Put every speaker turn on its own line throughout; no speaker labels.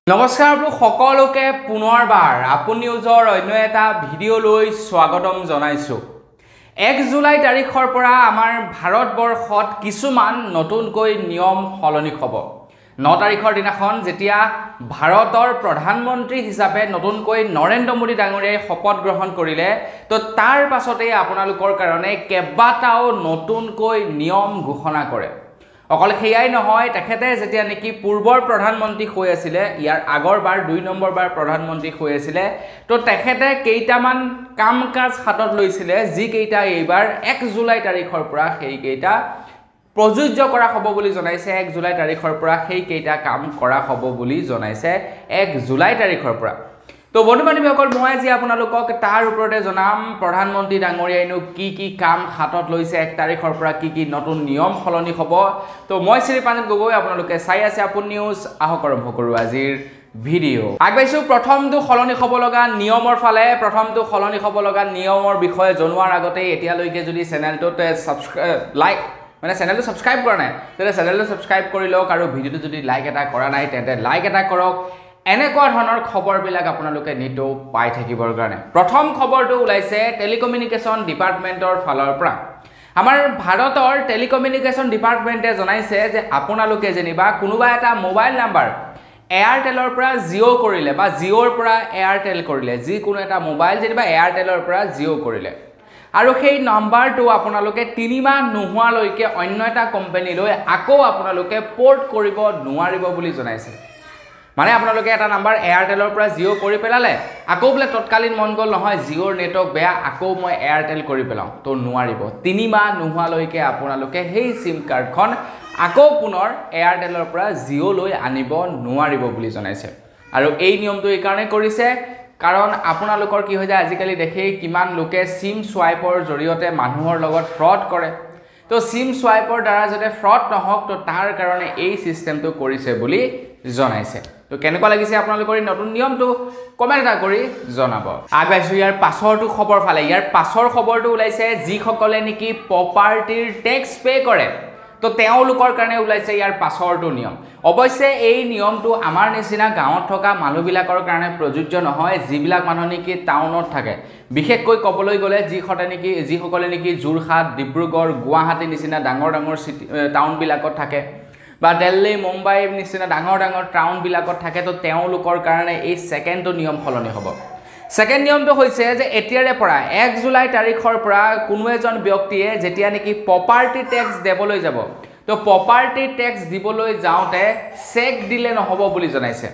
নমস্কাৰ আপোনালোক সকলোকে পুনৰবাৰ আপোন নিউজৰ অন্য এটা ভিডিঅ'লৈ স্বাগতম জনাইছোঁ। 1 জুলাই তাৰিখৰ পৰা আমাৰ ভাৰতবৰ্ষত কিছুমান নতুনকৈ নিয়ম সলনি হ'ব। 9 তাৰিখৰ দিনাখন যেতিয়া ভাৰতৰ প্ৰধানমন্ত্ৰী হিচাপে নতুনকৈ নৰেন্দ্ৰ মোদী ডাঙৰীয়াই শপত গ্ৰহণ কৰিলে, তো তাৰ পাছতেই আপোনালোকৰ কাৰণে কেইবাটাও নতুনকৈ নিয়ম ঘোষণা কৰে। অকল সেয়াই নহয়, তেখেতে যেতিয়া নেকি পূৰ্বৰ প্ৰধানমন্ত্ৰী হৈ আছিলে, ইয়াৰ আগৰবাৰ 2 নম্বৰবাৰ প্ৰধানমন্ত্ৰী হৈ আছিলে, তো তেখেতে কেইটামান কাম কাজ হাতত লৈছিলে, যিকেইটা এইবাৰ 1 জুলাই তাৰিখৰ পৰা সেইকেইটা প্ৰযোজ্য কৰা হ'ব বুলি জনাইছে। 1 জুলাই তাৰিখৰ পৰা সেইকেইটা কাম কৰা হ'ব বুলি জনাইছে 1 জুলাই তাৰিখৰ পৰা। তো বন্ধু বান্ধৱীসকল, মই আজি আপোনালোকক তাৰ ওপৰতে জনাম প্ৰধানমন্ত্ৰী ডাঙৰীয়াইনো কি কি কাম হাতত লৈছে, 1 তাৰিখৰ পৰা কি কি নতুন নিয়ম সলনি হ'ব। তো মই শ্ৰী পাঞ্জল গগৈ, আপোনালোকে চাই আছে আপোন নিউজ। আহক আৰম্ভ কৰোঁ আজিৰ ভিডিঅ'। আগবাঢ়িছোঁ প্ৰথমটো সলনি হ'ব লগা নিয়মৰ ফালে। প্ৰথমটো সলনি হ'ব লগা নিয়মৰ বিষয়ে জনোৱাৰ আগতে এতিয়ালৈকে যদি চেনেলটোত ছাবস্ক্ৰাইব লাইক মানে চেনেলটো ছাবস্ক্ৰাইব কৰা নাই, তেন্তে চেনেলটো ছাবস্ক্ৰাইব কৰি লওক, আৰু ভিডিঅ'টো যদি লাইক এটা কৰা নাই তেন্তে লাইক এটা কৰক। এনেকুৱা ধৰণৰ খবৰবিলাক আপোনালোকে নিতৌ পাই থাকিবৰ কাৰণে। প্ৰথম খবৰটো ওলাইছে টেলিকমিউনিকেশ্যন ডিপাৰ্টমেণ্টৰ ফালৰ পৰা। আমাৰ ভাৰতৰ টেলিকমিউনিকেশ্যন ডিপাৰ্টমেণ্টে জনাইছে যে আপোনালোকে যেনিবা কোনোবা এটা মোবাইল নাম্বাৰ এয়াৰটেলৰ পৰা জিঅ' কৰিলে বা জিঅ'ৰ পৰা এয়াৰটেল কৰিলে, যিকোনো এটা মোবাইল যেনিবা এয়াৰটেলৰ পৰা জিঅ' কৰিলে, আৰু সেই নম্বৰটো আপোনালোকে 3 মাহ নোহোৱালৈকে অন্য এটা কোম্পানীলৈ আকৌ আপোনালোকে প'ৰ্ট কৰিব নোৱাৰিব বুলি জনাইছে। মানে আপোনালোকে এটা নাম্বাৰ এয়াৰটেলৰ পৰা জিঅ' কৰি পেলালে, আকৌ বোলে তৎকালীন মন গ'ল নহয় জিঅ'ৰ নেটৱৰ্ক বেয়া, আকৌ মই এয়াৰটেল কৰি পেলাওঁ, তো নোৱাৰিব। 3 মাহ নোহোৱালৈকে আপোনালোকে সেই চিম কাৰ্ডখন আকৌ পুনৰ এয়াৰটেলৰ পৰা জিঅ'লৈ আনিব নোৱাৰিব বুলি জনাইছে। আৰু এই নিয়মটো এইকাৰণে কৰিছে কাৰণ আপোনালোকৰ কি হৈ যায়, আজিকালি দেখেই কিমান লোকে চিম চুৱাইপৰ জৰিয়তে মানুহৰ লগত ফ্ৰড কৰে। তো চিম চুৱাইপৰ দ্বাৰা যাতে ফ্ৰড নহওক, তো তাৰ কাৰণে এই ছিষ্টেমটো কৰিছে বুলি জনাইছে। তো কেনেকুৱা লাগিছে আপোনালোকৰ এই নতুন নিয়মটো কমেণ্ট এটা কৰি জনাব। আগবাঢ়িছোঁ ইয়াৰ পাছৰটো খবৰ ফালে। ইয়াৰ পাছৰ খবৰটো ওলাইছে যিসকলে নেকি প্ৰপাৰ্টিৰ টেক্স পে' কৰে, তো তেওঁলোকৰ কাৰণে ওলাইছে ইয়াৰ পাছৰটো নিয়ম। অৱশ্যে এই নিয়মটো আমাৰ নিচিনা গাঁৱত থকা মানুহবিলাকৰ কাৰণে প্ৰযোজ্য নহয়, যিবিলাক মানুহ নেকি টাউনত থাকে। বিশেষকৈ ক'বলৈ গ'লে যিসকলে নেকি যোৰহাট, ডিব্ৰুগড়, গুৱাহাটীৰ নিচিনা ডাঙৰ ডাঙৰ চিটি টাউনবিলাকত থাকে বা দিল্লী, মুম্বাইৰ নিচিনা ডাঙৰ ডাঙৰ টাউনবিলাকত থাকে, তো তেওঁলোকৰ কাৰণে এই ছেকেণ্ডটো নিয়ম সলনি হ'ব। ছেকেণ্ড নিয়মটো হৈছে যে এতিয়াৰে পৰা 1 জুলাই তাৰিখৰ পৰা কোনো এজন ব্যক্তিয়ে যেতিয়া নেকি প্ৰপাৰ্টি টেক্স দিবলৈ যাব, তো প্ৰপাৰ্টি টেক্স দিবলৈ যাওঁতে চেক দিলে নহ'ব বুলি জনাইছে।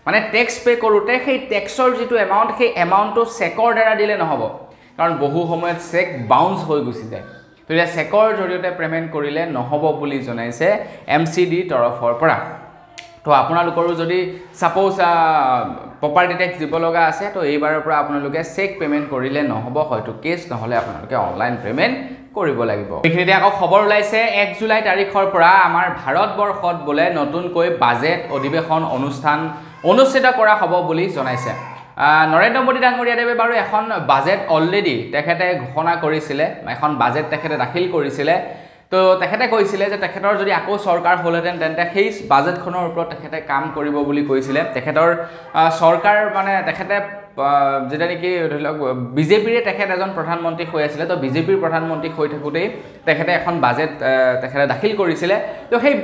মানে টেক্স পে' কৰোঁতে সেই টেক্সৰ যিটো এমাউণ্ট, সেই এমাউণ্টটো চেকৰ দ্বাৰা দিলে নহ'ব, কাৰণ বহু সময়ত চেক বাউন্স হৈ গুচি যায়। তো এতিয়া চেকৰ জৰিয়তে পে'মেণ্ট কৰিলে নহ'ব বুলি জনাইছে MCD তৰফৰ পৰা। তো আপোনালোকৰো যদি ছাপ'জ প্ৰপাৰ্টি টেক্স দিব লগা আছে, তো এইবাৰৰ পৰা আপোনালোকে চেক পে'মেণ্ট কৰিলে নহ'ব, হয়তো কেছ নহ'লে আপোনালোকে অনলাইন পে'মেণ্ট কৰিব লাগিব। এইখিনিতে আকৌ খবৰ ওলাইছে 1 জুলাই তাৰিখৰ পৰা আমাৰ ভাৰতবৰ্ষত বোলে নতুনকৈ বাজেট অধিৱেশন অনুষ্ঠান অনুষ্ঠিত কৰা হ'ব বুলি জনাইছে। নৰেন্দ্ৰ মোদী ডাঙৰীয়াদেৱে বাৰু এখন বাজেট অলৰেডি তেখেতে ঘোষণা কৰিছিলে, এখন বাজেট তেখেতে দাখিল কৰিছিলে। তো তেখেতে কৈছিলে যে তেখেতৰ যদি আকৌ চৰকাৰ হ'লহেঁতেন তেন্তে সেই বাজেটখনৰ ওপৰত তেখেতে কাম কৰিব বুলি কৈছিলে। তেখেতৰ চৰকাৰ মানে তেখেতে যেতিয়া নেকি ধৰি লওক বিজেপিৰে তেখেত এজন প্ৰধানমন্ত্ৰী হৈ আছিলে, তো বিজেপিৰ প্ৰধানমন্ত্ৰী হৈ থাকোঁতেই তেখেতে এখন বাজেট তেখেতে দাখিল কৰিছিলে। তো সেই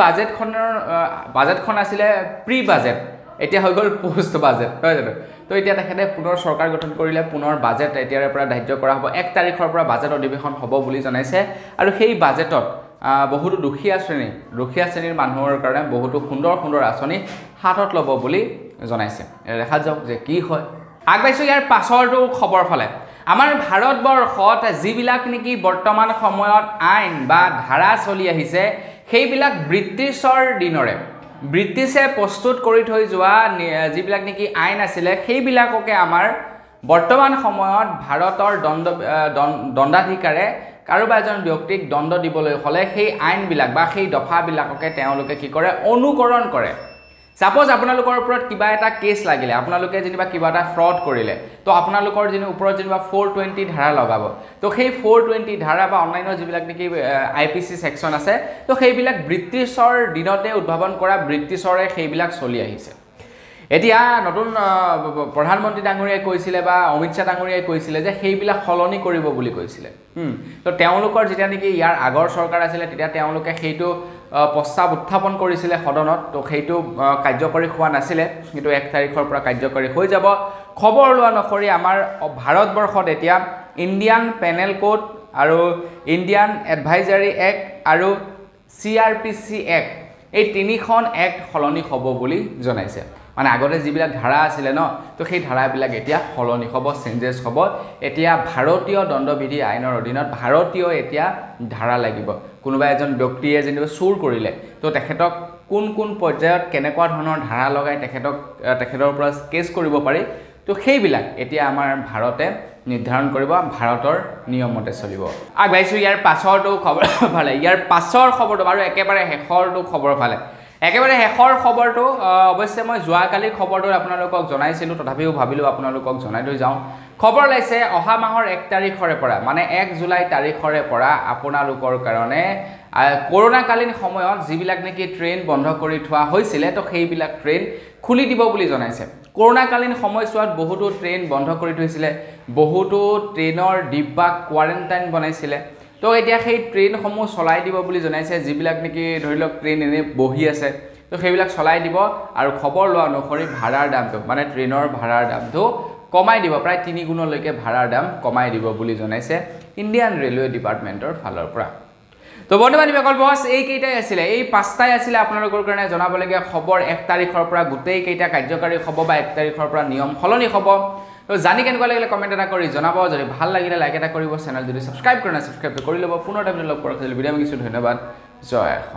বাজেটখন আছিলে প্ৰি বাজেট, এতিয়া হৈ গ'ল পোষ্ট বাজেট, নহয় জানো? তো এতিয়া তেখেতে পুনৰ চৰকাৰ গঠন কৰিলে, পুনৰ বাজেট এতিয়াৰে পৰা ধাৰ্য কৰা হ'ব। 1 তাৰিখৰ পৰা বাজেট অধিৱেশন হ'ব বুলি জনাইছে। আৰু সেই বাজেটত বহুতো দুখীয়া শ্ৰেণীৰ মানুহৰ কাৰণে বহুতো সুন্দৰ সুন্দৰ আঁচনি হাতত ল'ব বুলি জনাইছে। দেখা যাওক যে কি হয়। আগবাঢ়িছোঁ ইয়াৰ পাছৰটো খবৰ ফালে। আমাৰ ভাৰতবৰ্ষত যিবিলাক নেকি বৰ্তমান সময়ত আইন বা ধাৰা চলি আহিছে, সেইবিলাক ব্ৰিটিছৰ দিনৰে, ব্ৰিটিছে প্ৰস্তুত কৰি থৈ যোৱা যিবিলাক নেকি আইন আছিলে, সেইবিলাককে আমাৰ বৰ্তমান সময়ত ভাৰতৰ দণ্ডাধিকাৰে কাৰোবা এজন ব্যক্তিক দণ্ড দিবলৈ হ'লে সেই আইনবিলাক বা সেই দফাবিলাককে তেওঁলোকে কি কৰে, অনুকৰণ কৰে। ছাপ'জ আপোনালোকৰ ওপৰত কিবা এটা কেছ লাগিলে, আপোনালোকে যেনিবা কিবা এটা ফ্ৰড কৰিলে, তো আপোনালোকৰ ওপৰত যেনিবা 420 ধাৰা লগাব, তো সেই 420 ধাৰা বা অন্যান্য যিবিলাক নেকি IPC section আছে, তো সেইবিলাক ব্ৰিটিছৰ দিনতে উদ্ভাৱন কৰা, ব্ৰিটিছৰে সেইবিলাক চলি আহিছে। এতিয়া নতুন প্ৰধানমন্ত্ৰী ডাঙৰীয়াই কৈছিলে বা অমিত শ্বাহ ডাঙৰীয়াই কৈছিলে যে সেইবিলাক সলনি কৰিব বুলি কৈছিলে। তো তেওঁলোকৰ যেতিয়া নেকি ইয়াৰ আগৰ চৰকাৰ আছিলে তেতিয়া তেওঁলোকে সেইটো প্ৰস্তাৱ উত্থাপন কৰিছিলে সদনত, তো সেইটো কাৰ্যকৰী হোৱা নাছিলে, কিন্তু 1 তাৰিখৰ পৰা কাৰ্যকৰী হৈ যাব। খবৰ লোৱা অনুসৰি আমাৰ ভাৰতবৰ্ষত এতিয়া ইণ্ডিয়ান পেনেল কোড আৰু ইণ্ডিয়ান এডভাইজাৰী এক্ট আৰু CRPC act, এই তিনিখন এক্ট সলনি হ'ব বুলি জনাইছে। মানে আগতে যিবিলাক ধাৰা আছিলে ন, তো সেই ধাৰাবিলাক এতিয়া সলনি হ'ব, চেঞ্জেছ হ'ব। এতিয়া ভাৰতীয় দণ্ডবিধি আইনৰ অধীনত ভাৰতীয় এতিয়া ধাৰা লাগিব। কোনোবা এজন ব্যক্তিয়ে যেনিবা চুৰ কৰিলে, তো তেখেতক কোন কোন পৰ্যায়ত কেনেকুৱা ধৰণৰ ধাৰা লগাই তেখেতৰ পৰা কেছ কৰিব পাৰি, তো সেইবিলাক এতিয়া আমাৰ ভাৰতে নিৰ্ধাৰণ কৰিব, ভাৰতৰ নিয়মতে চলিব। আগবাঢ়িছোঁ ইয়াৰ পাছৰটো খবৰ ফালে। ইয়াৰ পাছৰ খবৰটো বাৰু একেবাৰে শেষৰটো খবৰ ফালে। একেবাৰে শেষৰ খবৰটো অৱশ্যে মই যোৱাকালিৰ খবৰটো আপোনালোকক জনাইছিলোঁ, তথাপিও ভাবিলোঁ আপোনালোকক জনাই থৈ যাওঁ। খবৰ ওলাইছে অহা মাহৰ 1 তাৰিখৰে পৰা, মানে 1 জুলাই তাৰিখৰে পৰা আপোনালোকৰ কাৰণে কৰোণাকালীন সময়ত যিবিলাক নেকি ট্ৰেইন বন্ধ কৰি থোৱা হৈছিলে, তো সেইবিলাক ট্ৰেইন খুলি দিব বুলি জনাইছে। কৰোণাকালীন সময়ছোৱাত বহুতো ট্ৰেইন বন্ধ কৰি থৈছিলে, বহুতো ট্ৰেইনৰ ডিব্বা কোৱাৰেণ্টাইন বনাইছিলে, তো এতিয়া সেই ট্ৰেইনসমূহ চলাই দিব বুলি জনাইছে। যিবিলাক নেকি ধৰি লওক ট্ৰেইন এনেই বহি আছে, তো সেইবিলাক চলাই দিব। আৰু খবৰ লোৱা অনুসৰি ভাড়াৰ দামটো, মানে ট্ৰেইনৰ ভাড়াৰ দামটো কমাই দিব, প্ৰায় 3 গুণলৈকে ভাড়াৰ দাম কমাই দিব বুলি জনাইছে ইণ্ডিয়ান ৰেলৱে ডিপাৰ্টমেণ্টৰ ফালৰ পৰা। তো বন্ধু বান্ধৱীসকল, বছ এইকেইটাই আছিলে, এই 5টাই আছিলে আপোনালোকৰ কাৰণে জনাবলগীয়া খবৰ। 1 তাৰিখৰ পৰা গোটেইকেইটা কাৰ্যকাৰী হ'ব বা 1 তাৰিখৰ পৰা নিয়ম সলনি হ'ব। তো জানি কেনেকুৱা লাগিলে কমেণ্ট এটা কৰি জনাব, যদি ভাল লাগিলে লাইক এটা কৰিব, চেনেল যদি ছাবস্ক্ৰাইব কৰা নাই ছাবস্ক্ৰাইবটো কৰি ল'ব। পুনৰ এটা ভিডিঅ' লগ পোৱাৰ বিদায় মাগিছোঁ, ধন্যবাদ, জয় অসম।